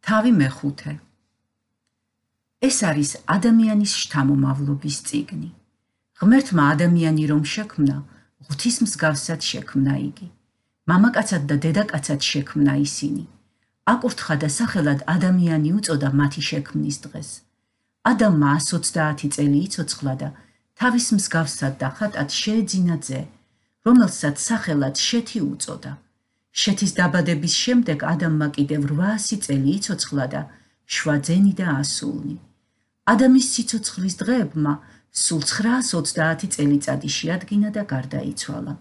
თავი მეხუთე. ეს არის ადამიანის შთამომავლობის წიგნი. ღმერთმა ადამიანი რომ შექმნა, ღვთის მსგავსად შექმნა იგი. მამაკაცად და დედაკაცად შექმნა ისინი. აკურთხა და სახელად ადამიანი უწოდა მათი შექმნის დღეს. ადამმა 120 წელი იცოცხლა და თავის მსგავსად და ხატად შეეძინა ძე, რომელსაც სახელად შეთი უწოდა. შეთის დაბადების შემდეგ ადამმა კიდევ 800 წელი იცოცხლა და 7 ძენი და ასულნი. ადამის სიცოცხლის დღეებმა სულ 930 წელიწადი შეადგინა და გარდაიცვალა.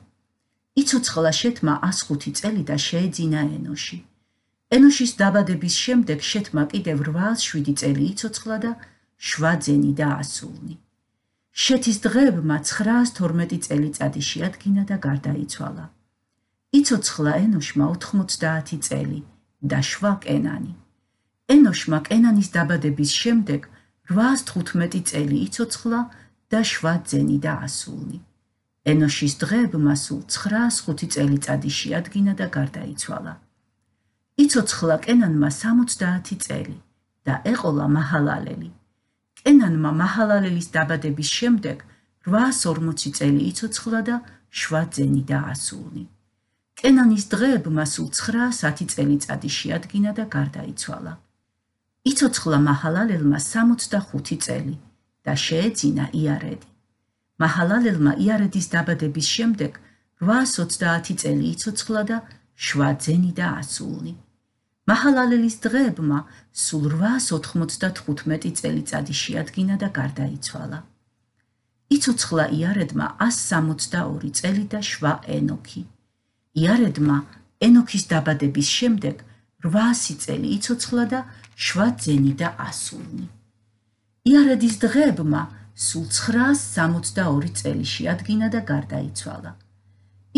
იცოცხლა შეთმა 105 წელი და შეეძინა ენოში. ენოშის დაბადების შემდეგ შეთმა კიდევ 807 წელი იცოცხლა და 7 ძენი და ასულნი. შეთის დღეებმა 912 წელიწადი შეადგინა და გარდაიცვალა. იცოცხლა ენოშმა 90 წელი და 7 კენანი. ენოშმა კენანის დაბადების შემდეგ 815 წელი იცოცხლა და 7 ძენი და ასულნი. ენოშის დღეებმა სულ 905 წელიწადი შეადგინა და გარდაიცვალა. იცოცხლა კენანმა 70 წელი და ეყოლა მაჰალალელი. კენანმა მაჰალალელის დაბადების შემდეგ 840 წელი იცოცხლა და 7 ძენი და ასულნი. კენანის დღეებმა სულ 910 წელიწადი შეადგინა და გარდაიცვალა. იცოცხლა მაჰალალელმა 65 წელი და შეეძინა იარედი. მაჰალალელმა იარედის დაბადების შემდეგ 830 წელი იცოცხლა და 7 ძენი და ასულნი. მაჰალალელის დღეებმა სულ 895 წელიწადი შეადგინა და გარდაიცვალა. იცოცხლა იარედმა 162 წელი და 7 ენოქი. იარედმა ენოქის დაბადების შემდეგ 800 წელი იცოცხლა და 7 ძენი და ასულნი. იარედის დღეებმა სულ 962 წელი შეადგინა და გარდაიცვალა.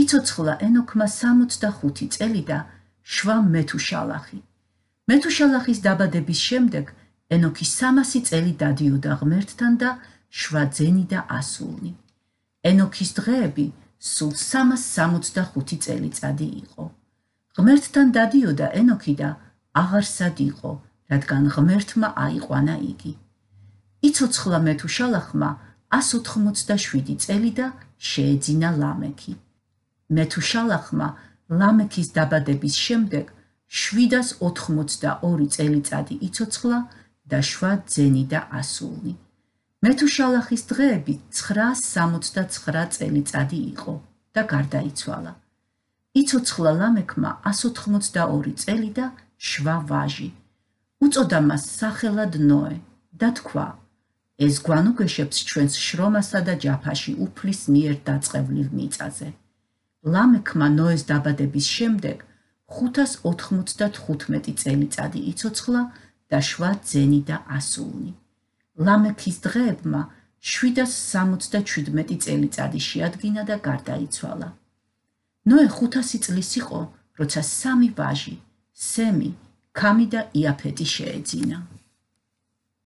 იცოცხლა ენოქმა 65 წელი და 7 მეთუშალახი. მეთუშალახის დაბადების შემდეგ ენოქი 300 წელი დადიოდა ღმერთთან და 7 ძენი და ასულნი. ენოქის დღეები სულ 365 წელიწადი იყო. ღმერთთან დადიოდა ენოქი და აღარსად იყო, რადგან ღმერთმა აიყვანა იგი. იცოცხლა მეთუშალახმა 187 წელი და შეეძინა ლამექი. მეთუშალახმა ლამექის დაბადების შემდეგ 782 წელიწადი იცოცხლა და 7 ძენი და ასულნი. მეთუშალახის დღეები 969 წელიწადი იყო და გარდაიცვალა. იცოცხლა ლამექმა 182 წელი და 7 ვაჟი. უწოდა მას სახელად ნოე და თქვა: ეს გვანუგეშებს ჩვენს შრომასა და ჯაფაში უფლის მიერ დაწყევლილ მიწაზე. ლამექმა ნოეს დაბადების შემდეგ 595 წელიწადი იცოცხლა და 7 ძენი და ასულნი. ლამექის დღეებმა 767 წელიწადი შეადგინა და გარდაიცვალა. ნოე 500 წლის იყო, როცა 3 ვაჟი, სემი, ქამი და იაფეტი შეეძინა.